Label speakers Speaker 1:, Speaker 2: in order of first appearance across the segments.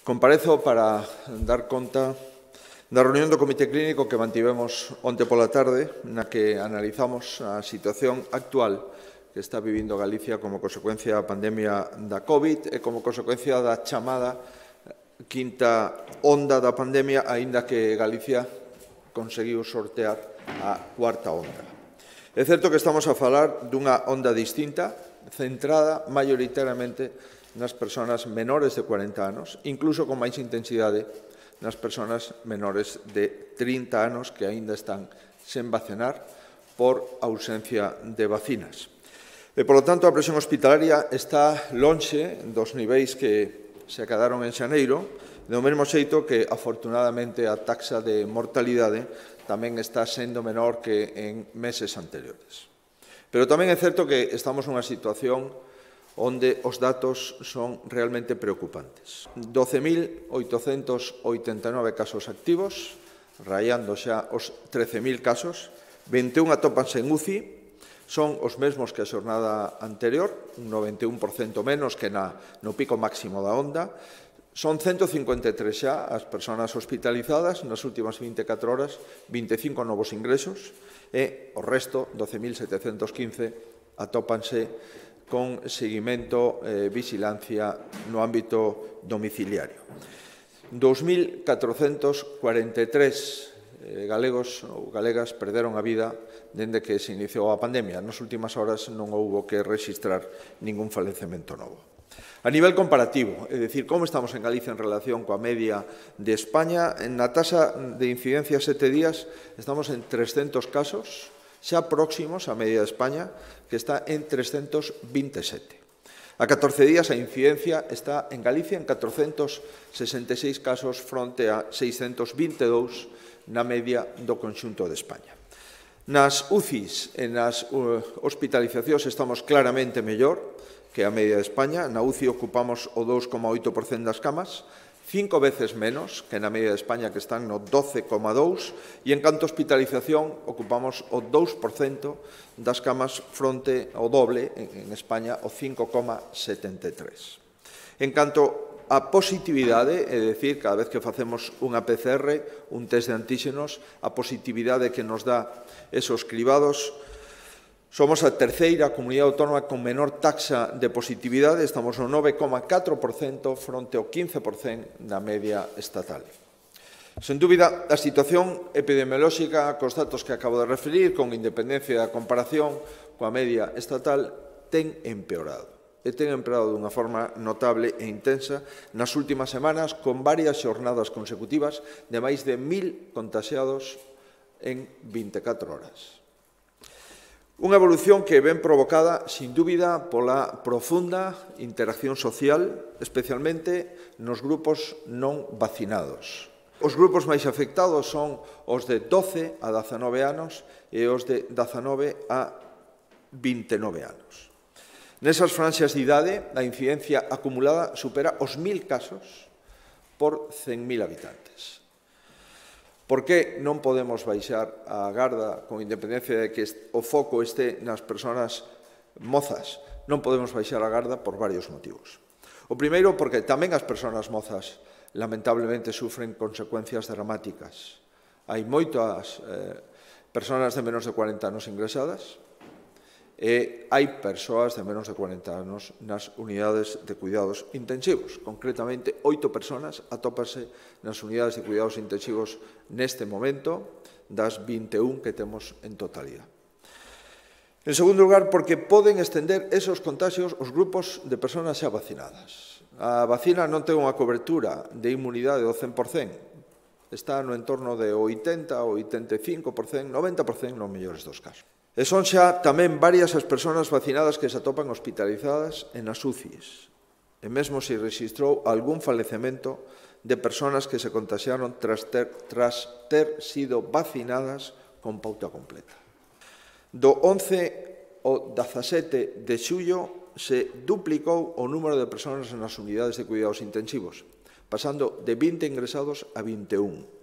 Speaker 1: Comparezo para dar conta da reunión do Comité Clínico que mantivemos onte pola tarde, na que analizamos a situación actual que está vivindo Galicia como consecuencia da pandemia da COVID e como consecuencia da chamada quinta onda da pandemia, aínda que Galicia conseguiu sortear a cuarta onda. É certo que estamos a falar dunha onda distinta, centrada maioritariamente nas persoas menores de 40 anos, incluso con máis intensidade nas persoas menores de 30 anos que aínda están sen vacinar por ausencia de vacinas. E, polo tanto, a presión hospitalaria está lonxe dos niveis que se acadaron en xaneiro, do mesmo xeito que, afortunadamente, a taxa de mortalidade tamén está sendo menor que en meses anteriores. Pero tamén é certo que estamos nunha situación onde os datos son realmente preocupantes. 12.889 casos activos, rayando xa os 13.000 casos, 21 atópanse en UCI, son os mesmos que a xornada anterior, un 91% menos que no pico máximo da onda. Son 153 xa as persoas hospitalizadas nas últimas 24 horas, 25 novos ingresos, e o resto, 12.715, atópanse con seguimento e vigilancia no ámbito domiciliario. 2.443 galegos ou galegas perderon a vida dende que se iniciou a pandemia. Nas últimas horas non houbo que registrar ningún falecemento novo. A nivel comparativo, é dicir, como estamos en Galicia en relación coa media de España, na taxa de incidencia 7 días estamos en 300 casos, xa próximos á media de España, que está en 327. A 14 días a incidencia está en Galicia en 466 casos fronte a 622 na media do conxunto de España. Nas UCIs e nas hospitalizacións estamos claramente mellor que a media de España. Na UCI ocupamos o 2,8% das camas, 5 veces menos que na media de España, que están no 12,2%, e en canto a hospitalización ocupamos o 2% das camas fronte ao doble en España, o 5,73%. En canto a positividade, é dicir, cada vez que facemos unha PCR, un test de antíxenos, a positividade que nos dá esos cribados, somos a terceira comunidade autónoma con menor taxa de positividade, estamos no 9,4% fronte ao 15% da media estatal. Sen dúbida, a situación epidemiolóxica, cos datos que acabo de referir, con independencia da comparación coa media estatal, ten empeorado. E ten empeorado dunha forma notable e intensa nas últimas semanas, con varias xornadas consecutivas de máis de 1.000 contaxiados en 24 horas. Unha evolución que ven provocada, sin dúbida, pola profunda interacción social, especialmente nos grupos non vacinados. Os grupos máis afectados son os de 12 a 19 anos e os de 19 a 29 anos. Nesas franxas de idade, a incidencia acumulada supera os 1.000 casos por 100.000 habitantes. Por que non podemos baixar a garda con independencia de que o foco este nas persoas mozas? Non podemos baixar a garda por varios motivos. O primeiro, porque tamén as persoas mozas lamentablemente sufren consecuencias dramáticas. Hai moitas persoas de menos de 40 anos ingresadas e hai persoas de menos de 40 anos nas unidades de cuidados intensivos. Concretamente, 8 persoas atópanse nas unidades de cuidados intensivos neste momento, das 21 que temos en totalidade. En segundo lugar, porque poden estender esos contagios aos grupos de persoas xa vacinadas. A vacina non ten unha cobertura de inmunidade do 100%, está no entorno de 80, 85%, 90% nos mellores dos casos. E son xa tamén varias as persoas vacinadas que se atopan hospitalizadas en as UCIs. E mesmo se registrou algún falecemento de persoas que se contagiaron tras ter sido vacinadas con pauta completa. Do 11 ao 17 de xullo se duplicou o número de persoas nas unidades de cuidados intensivos, pasando de 20 ingresados a 21.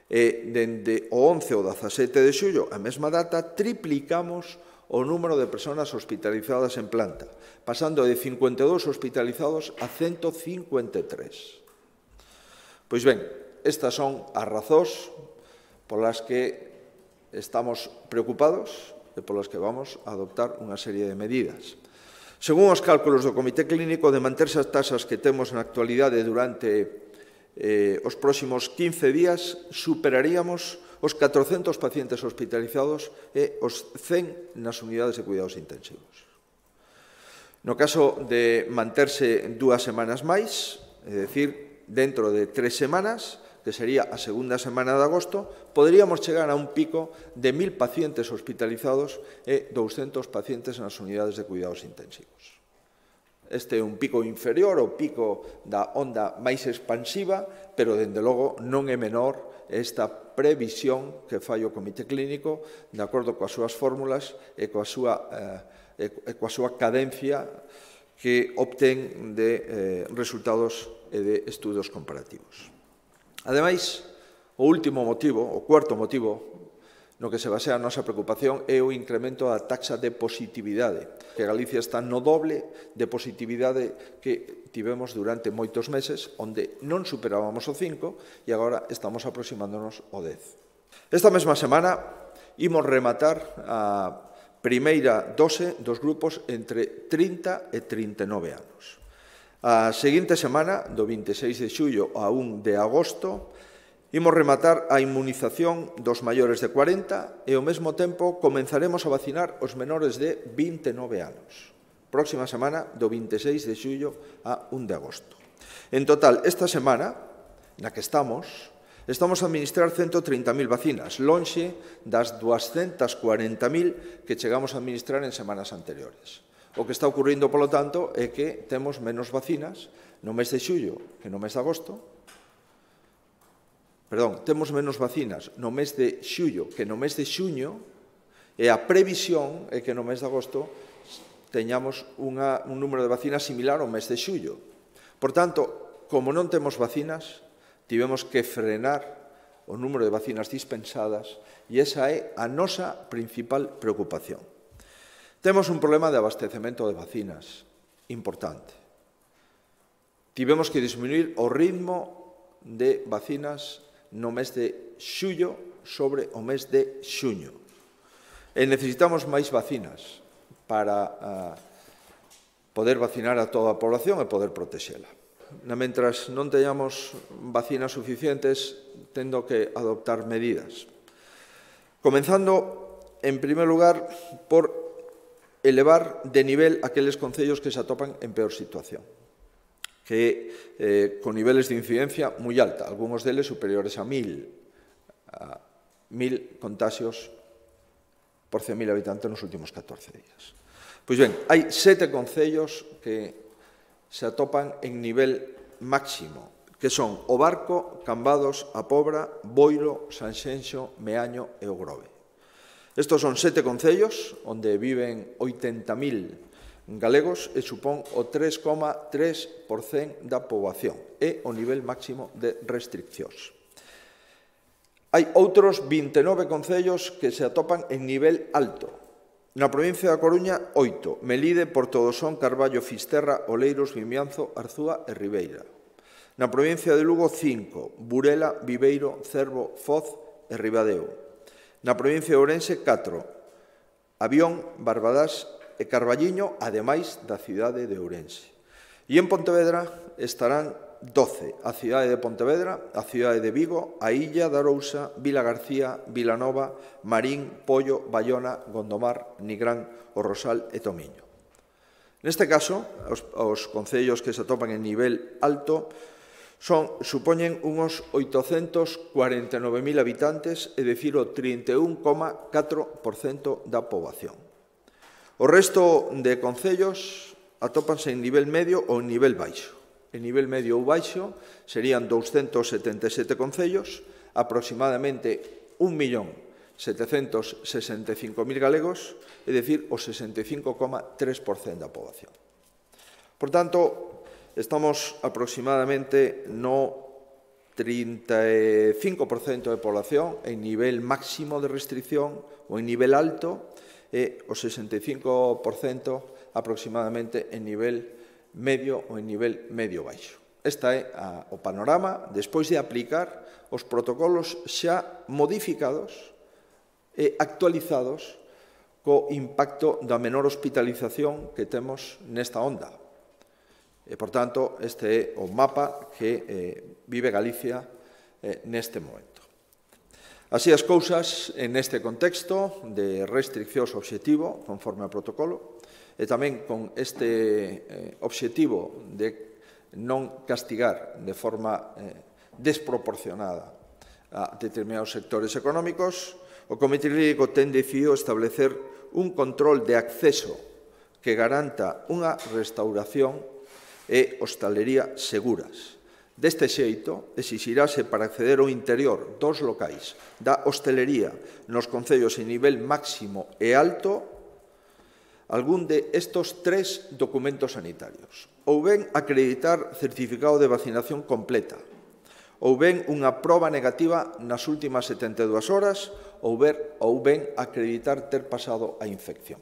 Speaker 1: E dende o 11 ao 17 de xullo, a mesma data, triplicamos o número de persoas hospitalizadas en planta, pasando de 52 hospitalizados a 153. Pois ben, estas son as razóns polas que estamos preocupados e polas que vamos a adoptar unha serie de medidas. Según os cálculos do Comité Clínico, de manterse as taxas que temos na actualidade durante os próximos 15 días, superaríamos os 400 pacientes hospitalizados e os 100 nas unidades de cuidados intensivos. No caso de manterse 2 semanas máis, é dicir, dentro de 3 semanas, que sería a segunda semana de agosto, poderíamos chegar a un pico de 1000 pacientes hospitalizados e 200 pacientes nas unidades de cuidados intensivos. Este é un pico inferior ao pico da onda máis expansiva, pero, dende logo, non é menor esta previsión que fai o Comité Clínico de acordo coas súas fórmulas e coa súa cadencia que obtén de resultados e de estudos comparativos. Ademais, o último motivo, o cuarto motivo, no que se basea a nosa preocupación é o incremento da taxa de positividade, que Galicia está no doble de positividade que tivemos durante moitos meses, onde non superábamos o 5 e agora estamos aproximándonos ao 10. Esta mesma semana imos rematar a primeira dose dos grupos entre 30 e 39 anos. A seguinte semana, do 26 de xullo a 1 de agosto, imos rematar a inmunización dos maiores de 40 e, ao mesmo tempo, comenzaremos a vacinar os menores de 29 anos. Próxima semana, do 26 de xullo a 1 de agosto. En total, esta semana, na que estamos a administrar 130.000 vacinas, lonxe das 240.000 que chegamos a administrar en semanas anteriores. O que está ocurrindo, polo tanto, é que temos menos vacinas no mes de xullo que no mes de agosto. Temos menos vacinas no mes de xullo que no mes de xuño e a previsión é que no mes de agosto teñamos un número de vacinas similar ao mes de xullo. Por tanto, como non temos vacinas, tivemos que frenar o número de vacinas dispensadas e esa é a nosa principal preocupación. Temos un problema de abastecemento de vacinas importante. Tivemos que disminuir o ritmo de vacinas no mes de xullo sobre o mes de xuño. E necesitamos máis vacinas para poder vacinar a toda a población e poder protexela. Mentras non teñamos vacinas suficientes, tendo que adoptar medidas. Comenzando, en primer lugar, por elevar de nivel aqueles concellos que se atopan en peor situación, que con niveles de incidencia moi alta, algúns deles superiores a 1000 contaxios por 100.000 habitantes nos últimos 14 días. Pois ben, hai 7 concellos que se atopan en nivel máximo, que son o Barco, Cambados, A Pobra, Boiro, Sanxenxo, Meaño e o Grove. Estos son 7 concellos onde viven 80.000 galegos e supón o 3,3% da poboación. É o nivel máximo de restriccións. Hai outros 29 concellos que se atopan en nivel alto. Na provincia da Coruña, 8, Melide, Portodosón, Carballo, Fisterra, Oleiros, Vimianzo, Arzúa e Ribeira. Na provincia de Lugo, 5, Burela, Viveiro, Cervo, Foz e Ribadeo. Na provincia de Ourense, 4, Avión, Barbadás e Carballiño, ademais da cidade de Ourense. E en Pontevedra estarán 12, a cidade de Pontevedra, a cidade de Vigo, a Illa de Arousa, Vila García, Vilanova, Marín, Pollo, Bayona, Gondomar, Nigrán, O Rosal e Tomiño. Neste caso, os concellos que se atopan en nivel alto supoñen unos 849.000 habitantes, é dicir, o 31,4% da poboación. O resto de concellos atópanse en nivel medio ou en nivel baixo. En nivel medio ou baixo serían 277 concellos, aproximadamente 1.765.000 galegos, é dicir, o 65,3% da poboación. Por tanto, estamos aproximadamente no 35% de población en nivel máximo de restricción ou en nivel alto e o 65% aproximadamente en nivel medio ou en nivel medio-baixo. Este é o panorama despois de aplicar os protocolos xa modificados e actualizados co impacto da menor hospitalización que temos nesta onda. E, por tanto, este é o mapa que vive Galicia neste momento. Así as cousas, neste contexto de restriccións obxectivo, conforme ao protocolo, e tamén con este obxectivo de non castigar de forma desproporcionada a determinados sectores económicos, o Comité Clínico ten decidido establecer un control de acceso que garanta unha restauración e hostalería seguras. Deste xeito, exixirase para acceder ao interior dos locais da hostelería nos concellos en nivel máximo e alto algún de estos tres documentos sanitarios. Ou ben acreditar certificado de vacinación completa, ou ben unha proba negativa nas últimas 72 horas, ou ben acreditar ter pasado a infección.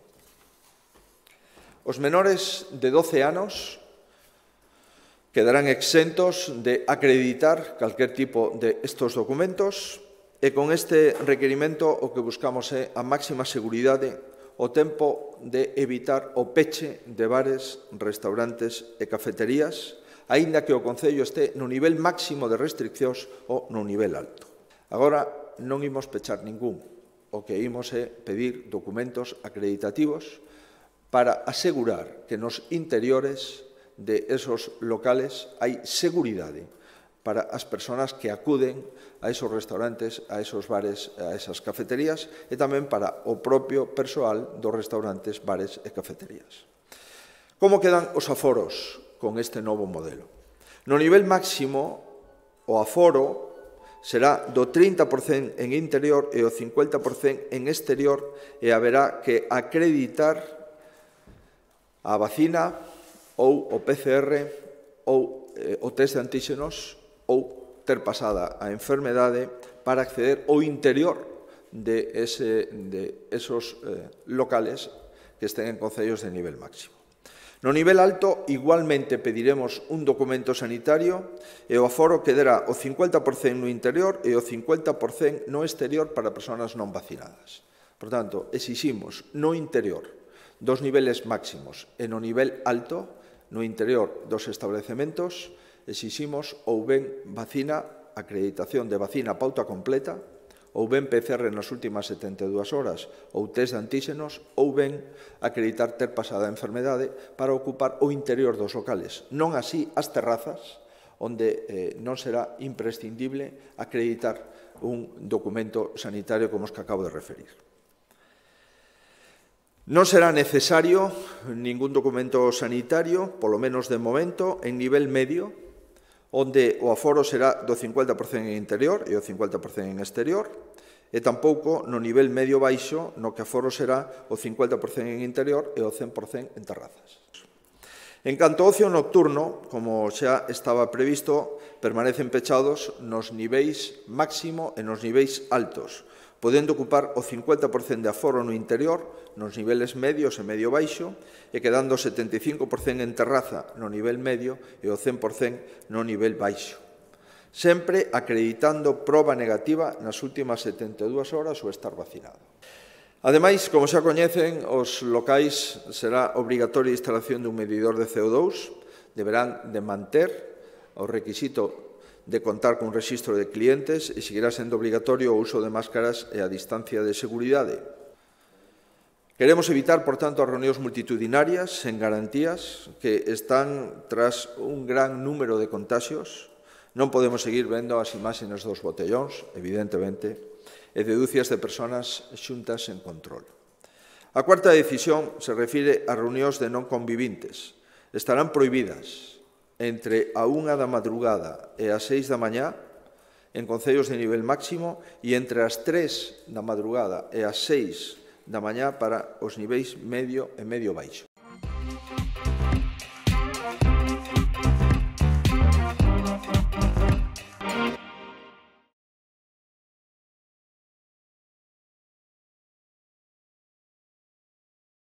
Speaker 1: Os menores de 12 anos quedarán exentos de acreditar calquer tipo de estos documentos e con este requerimento o que buscamos é a máxima seguridade o tempo de evitar o peche de bares, restaurantes e cafeterías, aínda que o Concello este no nivel máximo de restriccións ou no nivel alto. Agora non imos pechar ningún, o que imos é pedir documentos acreditativos para asegurar que nos interiores de esos locales hai seguridade para as persoas que acuden a esos restaurantes, a esos bares, a esas cafeterías e tamén para o propio persoal dos restaurantes, bares e cafeterías. Como quedan os aforos con este novo modelo? No nivel máximo, o aforo será do 30% en interior e o 50% en exterior e haberá que acreditar a vacina ou o PCR ou o test de antíxenos ou ter pasada a enfermedade para acceder ao interior de esos locales que estén en concellos de nivel máximo. No nivel alto, igualmente pediremos un documento sanitario e o aforo quedará o 50% no interior e o 50% no exterior para persoas non vacinadas. Por tanto, exiximos no interior dos niveles máximos e no nivel alto, no interior dos establecementos, exiximos ou ben vacina, acreditación de vacina pauta completa, ou ben PCR nas últimas 72 horas, ou test de antíxenos, ou ben acreditar ter pasada a enfermedade para ocupar o interior dos locales. Non así as terrazas, onde non será imprescindible acreditar un documento sanitario como os que acabo de referir. Non será necesario ningún documento sanitario, polo menos de momento, en nivel medio, onde o aforo será do 50% en interior e o 50% en exterior, e tampouco no nivel medio baixo, no que aforo será o 50% en interior e o 100% en terrazas. En canto ao ocio nocturno, como xa estaba previsto, permanecen pechados nos niveis máximo e nos niveis altos, podendo ocupar o 50% de aforo no interior, nos niveles medios e medio baixo, e quedando o 75% en terraza no nivel medio e o 100% no nivel baixo. Sempre acreditando proba negativa nas últimas 72 horas ou estar vacinado. Ademais, como xa coñecen, os locais será obrigatoria a instalación dun medidor de CO2, deberán de manter o requisito de contar con un rexistro de clientes e seguirá sendo obrigatorio o uso de máscaras e a distancia de seguridade. Queremos evitar, por tanto, as reunións multitudinarias sen garantías que están tras un gran número de contaxios. Non podemos seguir vendo as imaxes dos botellóns, evidentemente, e de dúcias de persoas xuntas en control. A cuarta decisión se refire a reunións de non convivintes. Estarán prohibidas entre a 1 da madrugada e as 6 da mañá en concellos de nivel máximo e entre as 3 da madrugada e as 6 da mañá para os niveis medio e medio baixo.